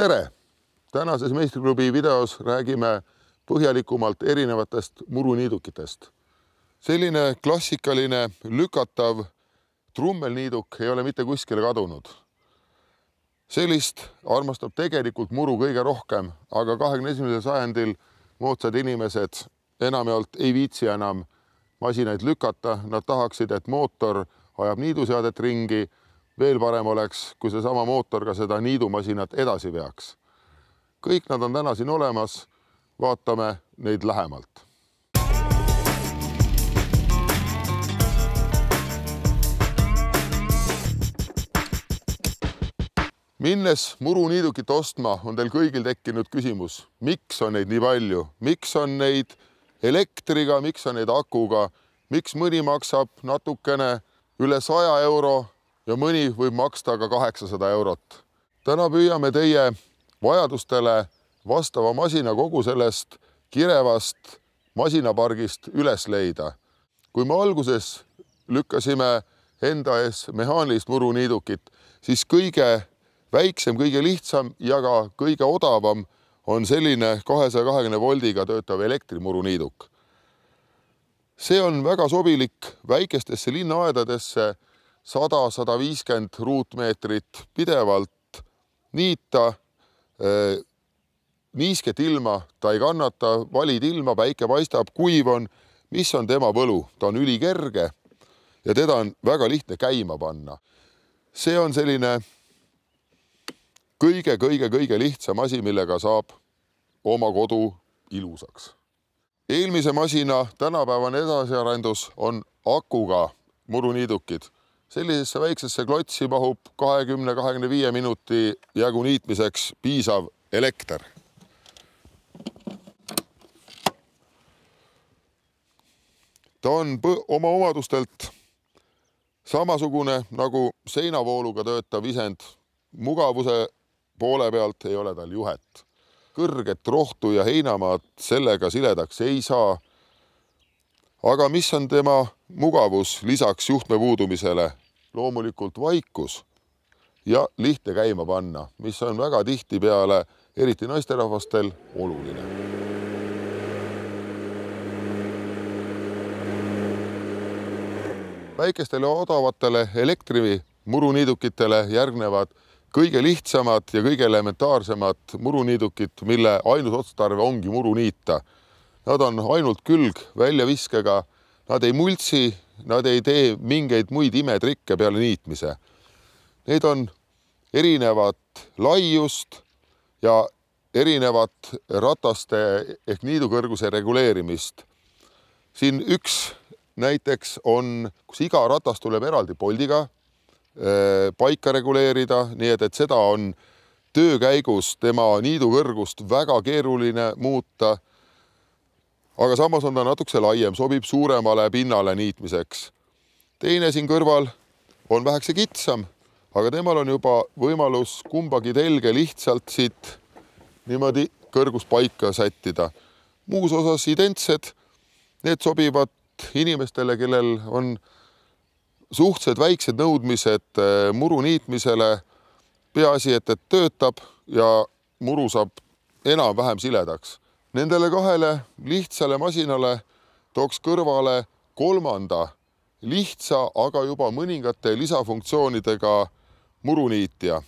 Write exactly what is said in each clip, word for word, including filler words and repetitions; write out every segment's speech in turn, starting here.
Tere! Tänases Meistriklubi videos räägime põhjalikumalt erinevatest muruniidukitest. Selline klassikaline lükatav trummelniiduk ei ole mitte kuskile kadunud. Sellist armastab tegelikult muru kõige rohkem, aga kahekümne esimesel sajandil moodsad inimesed enamjaolt ei viitsi enam masinaid lükata. Nad tahaksid, et mootor ajab niiduseadet ringi. Veel parem oleks, kui see sama mootor ka seda niidumasinat edasi veaks. Kõik nad on täna siin olemas. Vaatame neid lähemalt. Minnes muruniidukit ostma, on teil kõigil tekkinud küsimus, miks on neid nii palju, miks on neid elektriga, miks on neid akuga, miks mõni maksab natukene üle saja euro ja mõni võib maksta ka kaheksasada eurot. Täna püüame teie vajadustele vastava masina kogu sellest kirevast masinapargist üles leida. Kui me alguses lükkasime enda ees mehaanilist muruniidukit, siis kõige väiksem, kõige lihtsam ja ka kõige odavam on selline kahesaja kahekümne voldiga töötav elektrimuruniiduk. See on väga sobilik väikestesse linnaaedadesse, sada kuni sada viiskümmend ruutmeetrit pidevalt niita, niisket ilma ta ei kannata, valid ilma, päike paistab, kuiv on, mis on tema võlu. Ta on ülikerge ja teda on väga lihtne käima panna. See on selline kõige-kõige-kõige lihtsam asi, millega saab oma kodu ilusaks. Eelmise masina tänapäevane edasiarendus on akuga muruniidukid. Sellisesse väiksesse klotsi mahub kahekümne kuni kahekümne viie minuti jagu niitmiseks piisav elekter. Ta on oma omadustelt samasugune nagu seinavooluga töötav isend. Mugavuse poole pealt ei ole tal juhet. Kõrget rohtu ja heinamaad sellega siledaks ei saa. Aga mis on tema mugavus lisaks juhtme puudumisele? Loomulikult vaikus ja lihtne käima panna, mis on väga tihti peale, eriti naisterahvastel, oluline. Väikestele odavatele elektrimuruniidukitele järgnevad kõige lihtsamad ja kõige elementaarsemad muruniidukid, mille ainus otstarve ongi muru niita. Nad on ainult külg väljaviskega, nad ei multsi, nad ei tee mingeid muid imetrikke peale niitmise. Need on erinevat laiust ja erinevat rataste ehk niidukõrguse reguleerimist. Siin üks näiteks on, kus iga ratas tuleb eraldi poldiga paika reguleerida, nii et, et seda on töö käigus tema niidukõrgust väga keeruline muuta. Aga samas on ta natukese laiem, sobib suuremale pinnale niitmiseks. Teine siin kõrval on vähekese kitsam, aga temal on juba võimalus kumbagi telge lihtsalt siit niimoodi kõrgust paika sättida. Muus osas identsed, need sobivad inimestele, kellel on suhtsed väiksed nõudmised muru niitmisele, peaasi, et, et töötab ja muru saab enam-vähem siledaks. Nendele kahele lihtsale masinale tooks kõrvale kolmanda lihtsa, aga juba mõningate lisafunktsioonidega muruniitja.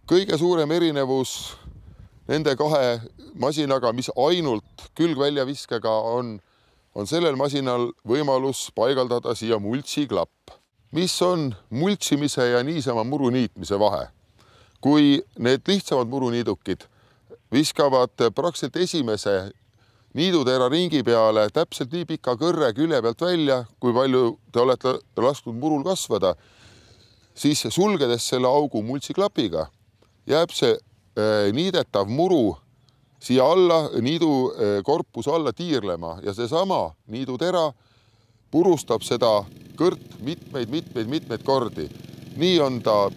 Kõige suurem erinevus nende kahe masinaga, mis ainult külgväljaviskega on, on sellel masinal võimalus paigaldada siia multsiklapp. Mis on multsimise ja niisama muruniitmise vahe? Kui need lihtsamad muruniidukid viskavad praktiliselt esimese niidutera ringi peale täpselt nii pika kõrre külje pealt välja, kui palju te olete lasknud murul kasvada, siis sulgedes selle augu multsiklapiga jääb see niidetav muru siia alla, niidu korpuse alla tiirlema ja seesama niidutera purustab seda kõrt mitmeid, mitmeid, mitmeid kordi. Nii on ta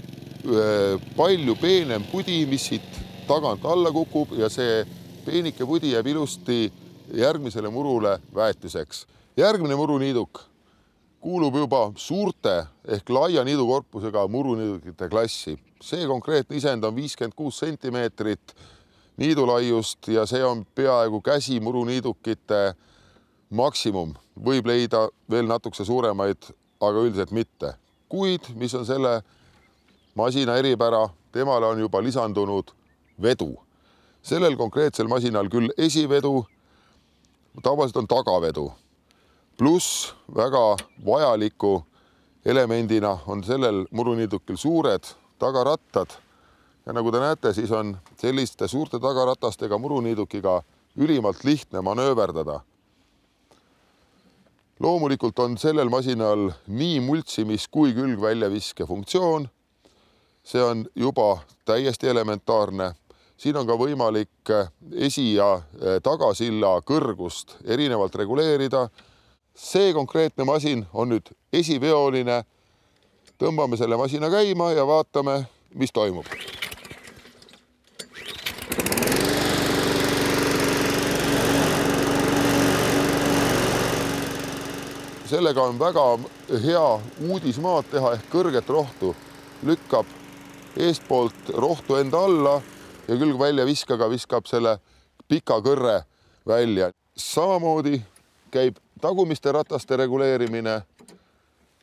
palju peenem pudi, mis siit tagant alla kukub ja see peenike pudi jääb ilusti järgmisele murule väetiseks. Järgmine muruniiduk, kuulub juba suurte ehk laia niidukorpusega muruniidukite klassi. See konkreetne isend on viiskümmend kuus sentimeetrit niidulaiust ja see on peaaegu käsi muruniidukite maksimum. Võib leida veel natukese suuremaid, aga üldiselt mitte. Kuid, mis on selle masina eripära, temale on juba lisandunud vedu. Sellel konkreetsel masinal küll esivedu, tavaliselt on tagavedu. Pluss väga vajaliku elemendina on sellel muruniidukil suured tagarattad. Ja nagu te näete, siis on selliste suurte tagaratastega muruniidukiga ülimalt lihtne manööverdada. Loomulikult on sellel masinal nii multsimis kui külgväljaviske funktsioon. See on juba täiesti elementaarne. Siin on ka võimalik esi- ja tagasilla kõrgust erinevalt reguleerida. See konkreetne masin on nüüd esiveoline. Tõmbame selle masina käima ja vaatame, mis toimub. Sellega on väga hea uudismaad teha ehk kõrget rohtu. Lükkab eestpoolt rohtu enda alla ja külgväljaviskaga viskab selle pika kõrre välja. Samamoodi käib tagumiste rataste reguleerimine.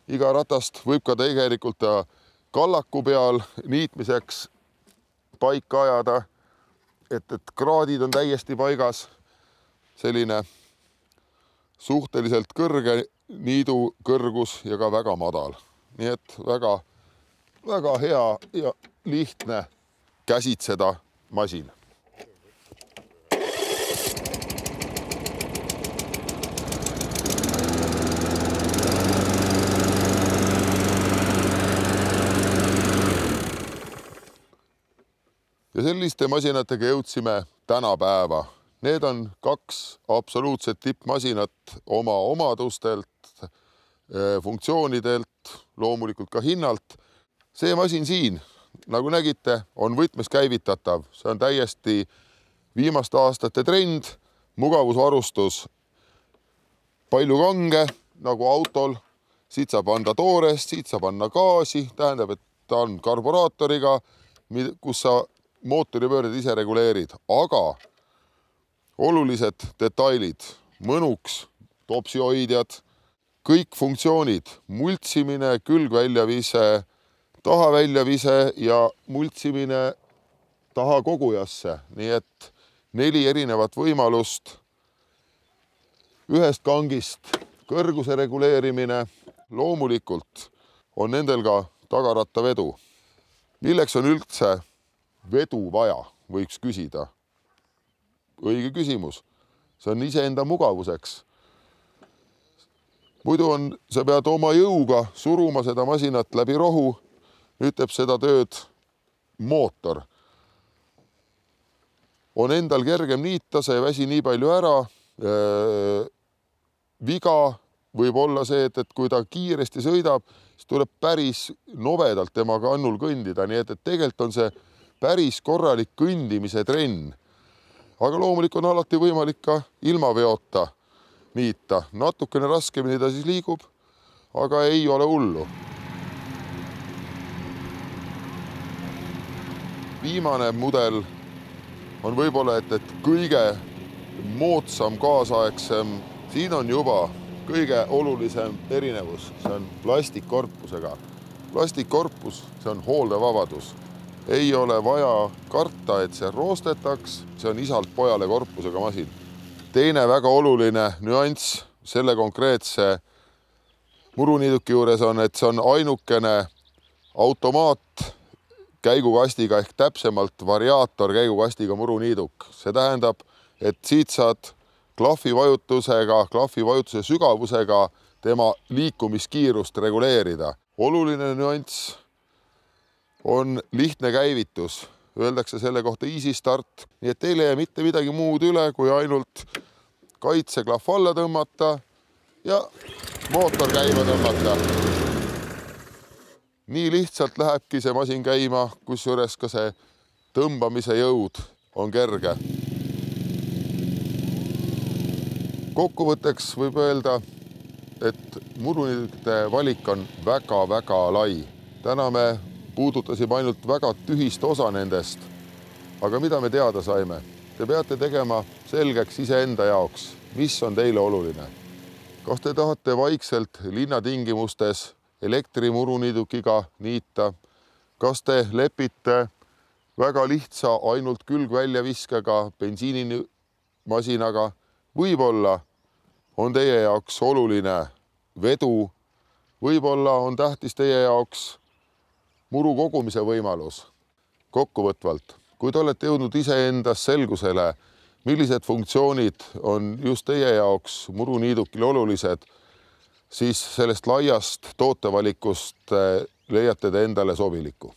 Iga ratast võib ka tegelikult kallaku peal niitmiseks paika ajada, et, et kraadid on täiesti paigas. Selline suhteliselt kõrge niidu kõrgus ja ka väga madal. Nii et väga, väga hea ja lihtne käsitseda masin. Ja selliste masinatega jõudsime tänapäeva. Need on kaks absoluutset tippmasinat oma omadustelt, funktsioonidelt, loomulikult ka hinnalt. See masin siin, nagu nägite, on võtmes käivitatav. See on täiesti viimaste aastate trend, mugavusvarustus. Palju kange, nagu autol. Siit saab anda toorest, siit saab anda gaasi. Tähendab, et ta on karburaatoriga, kus sa mootoripöörded ise reguleerid. Aga olulised detailid, mõnuks, topsioidjad, kõik funktsioonid, multsimine, külgväljavise, tahaväljavise ja multsimine taha kogujasse. Nii et neli erinevat võimalust. Ühest kangist kõrguse reguleerimine. Loomulikult on nendel ka tagarattavedu. Milleks on üldse vedu vaja, võiks küsida. Õige küsimus. See on iseenda mugavuseks. Muidu on, sa pead oma jõuga suruma seda masinat läbi rohu. Nüüd teeb seda tööd mootor. On endal kergem niita, see ei väsi nii palju ära. Viga võib olla see, et, et kui ta kiiresti sõidab, siis tuleb päris novedalt tema kannul kõndida. Nii et, et tegelikult on see päris korralik kõndimise trenn. Aga loomulik on alati võimalik ka ilma veota niita. Natukene raskemini ta siis liigub, aga ei ole hullu. Viimane mudel on võib-olla, et, et kõige moodsam, kaasaegsem. Siin on juba kõige olulisem erinevus. See on plastikkorpusega. Plastikkorpus, see on hooldevabadus. Ei ole vaja karta, et see roostetaks. See on isalt pojale korpusega masin. Teine väga oluline nüanss selle konkreetse muruniiduki juures on, et see on ainukene automaat käigukastiga ehk täpsemalt variaator käigukastiga muruniiduk. See tähendab, et siit saad klahvi vajutusega, klahvi vajutuse sügavusega tema liikumiskiirust reguleerida. Oluline nüanss on lihtne käivitus. Öeldakse selle kohta easy start. Nii et teile ei mitte midagi muud üle, kui ainult kaitseklahv alla tõmmata ja mootor käima tõmmata. Nii lihtsalt lähebki see masin käima, kusjuures ka see tõmbamise jõud on kerge. Kokkuvõtteks võib öelda, et muruniidukite valik on väga-väga lai. Täna me puudutasime ainult väga tühist osa nendest. Aga mida me teada saime? Te peate tegema selgeks iseenda jaoks, mis on teile oluline. Kas te tahate vaikselt linnatingimustes elektrimuruniidukiga niita? Kas te lepite väga lihtsa ainult külgväljaviskega bensiinimasinaga? Võib-olla on teie jaoks oluline vedu, võib-olla on tähtis teie jaoks muru kogumise võimalus. Kokkuvõtvalt, kui te olete jõudnud iseendas selgusele, millised funktsioonid on just teie jaoks muruniidukil olulised, siis sellest laiast tootevalikust leiate te endale sobiliku.